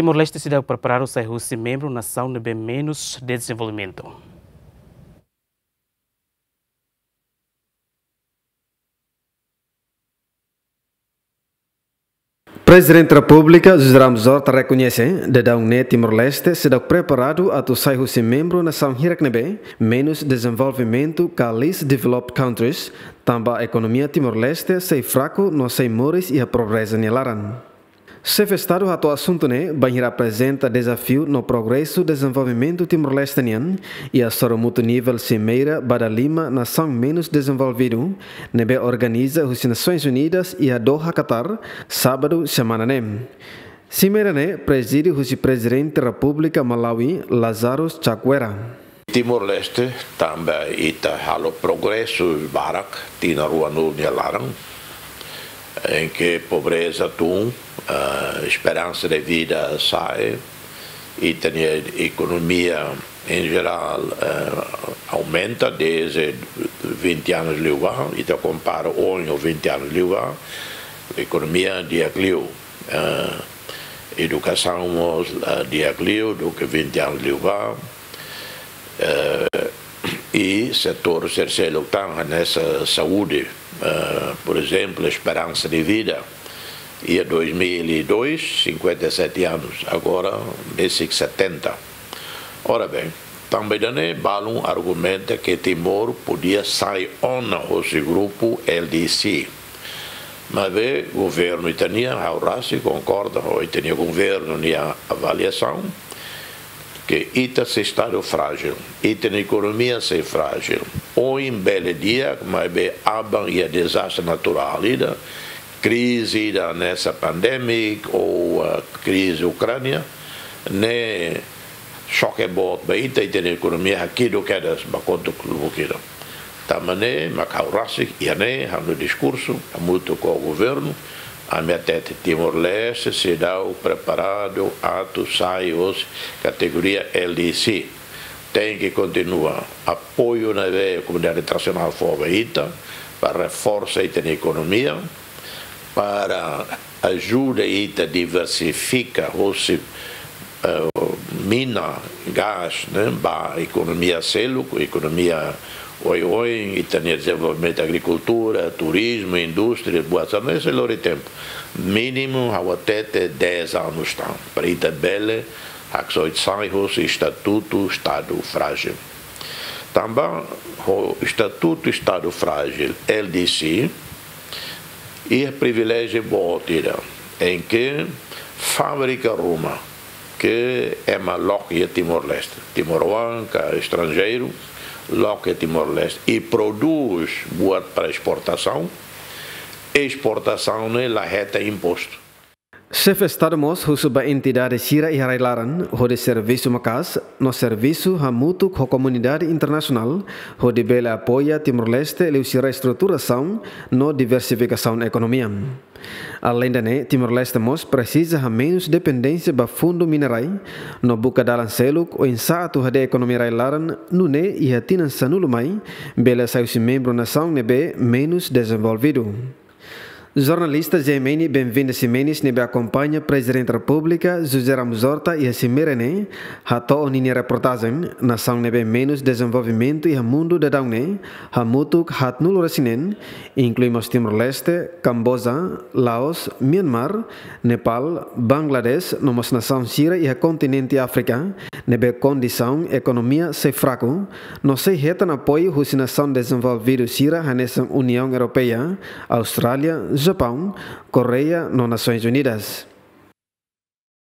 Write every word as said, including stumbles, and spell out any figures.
Timor-Leste seidauk preparadu sai husi membru nasaun ne'ebé menus dezenvolvimentu. Prezidente Repúblika José Ramos Horta rekoñese daudaun ne'e Timor-Leste seidauk preparadu atu sai husi membru nasaun hirak ne'ebé menus dezenvolvimentu ka least developed countries, tanba ekonomia Timor-Leste sei fraku no sei moris iha pobreza nia laran. Xefe Estadu hato'o asuntu ne'e bainhira aprezenta dezafiu no progresu dezenvolvimentu Timor-Leste nian iha sorumutu nivel simeira ba dala lima nasaun menus dezenvolvidu ne'ebé organiza husi Nasoins Unidas iha Doha, Qatar, sábadu semana ne'e. Simeira ne'e prezide husi Prezidente Repúblika Malawi, Lazarus Chakwera. Timor-Leste tanba ita halo progresu barak tinan ruanulu nia laran, em que pobreza tun, ah, esperansa de vida sa'e, ita-nia ekonomia em geral, eh, aumenta desde vinte anos liubá, ita kompara ohin ho vinte anos liubá, ekonomia di'ak liu, eh, edukasaun mós, eh, di'ak liu duké vinte anos liubá, eh, i setór sira seluk tan hanesan saúde, eh, por exemplo, esperansa de vida, iha dois mil e dois, cinquenta e sete anos, agora besik setenta. Ora bem, tanba ida-ne'e balun argumenta que Timor podia sai ona hosi grupu L D C. Maibé governu ita-nian, ha'u rasik konkorda ho ita-nia governu nia avaliasaun, que ita sei estadu frájil, ita-nia ekonomia sei frájil. Ohin bele di'ak, maibé aban iha dezastre naturál ida, krize ida hanesan pandemik ou, ah, krize Ukránia, ne'e xoke boot ba ita, ita-nia ekonomia hakiduk kedas ba kontu klubuk ida. Tanba ne'e mak ha'u rasik iha ne'e ha'u-nia diskursu hamutuk ho governu, ami hatete Timor-Leste seidauk preparadu atu sai hosi kategoria L D C. Tenke kontinua apoiu ne'ebé komunidade internasionál fó ba ita, para reforsa ita-nia ekonomia, para ajuda ita diversifika hosi, eh, mina, gás, ne'e, ba ekonomia seluk, ekonomia oioin, ita-nia dezenvolvimentu agrikultura, turizmu, indústria, buat sira-ne'e sei lori tempu. Mínimu ha'u hatete dez anos tan, para ita bele haksoit sai hosi estatutu estadu frájil. Tanba ho estatutu estadu frájil L D C, iha priviléjiu boot ida, em que fábrika ruma ke ema loke iha Timor-Leste, timoroan ka estranjeiru, loke iha Timor-Leste i prodús buat para esportasaun, esportasaun ne'e la hetan impostu. Xefe Estadu mós husu ba entidade sira iha rai-laran hodi servisu maka'as no servisu hamutuk ho komunidade internasionál hodi bele apoia Timor-Leste liuhusi reestruturasaun no diversifikasaun ekonomia. Aleinde ne'e, Timor-Leste mós presiza hamenus dependénsia ba fundu minerai no buka dalan seluk oinsá atu hadi'a ekonomia rai-laran nune'e iha tinan sanulu mai bele sai husi membru nasaun ne'ebé menus dezenvolvidu. Jornalista Zeimeni Benvinda Ximenes ne'ebé akompaña Prezidente Repúblika José Ramos Horta iha simeira ne'e hato'o ninia reportajen, nasaun ne'ebé menus dezenvolvimentu iha mundu daudaun ne'e hamutuk haatnulu-resin-neen, inklui mós Timor-Leste, Kamboja, Laos, Myanmar, Nepal, Bangladesh, no mós nasaun sira iha kontinente Áfrika, ne'ebé kondisaun ekonomia sei fraku, no sei hetan apoiu husi nasaun dezenvolvidu sira hanesan Uniaun Europeia, Austrália, Japaun, Koreia no Nasoins Unidas.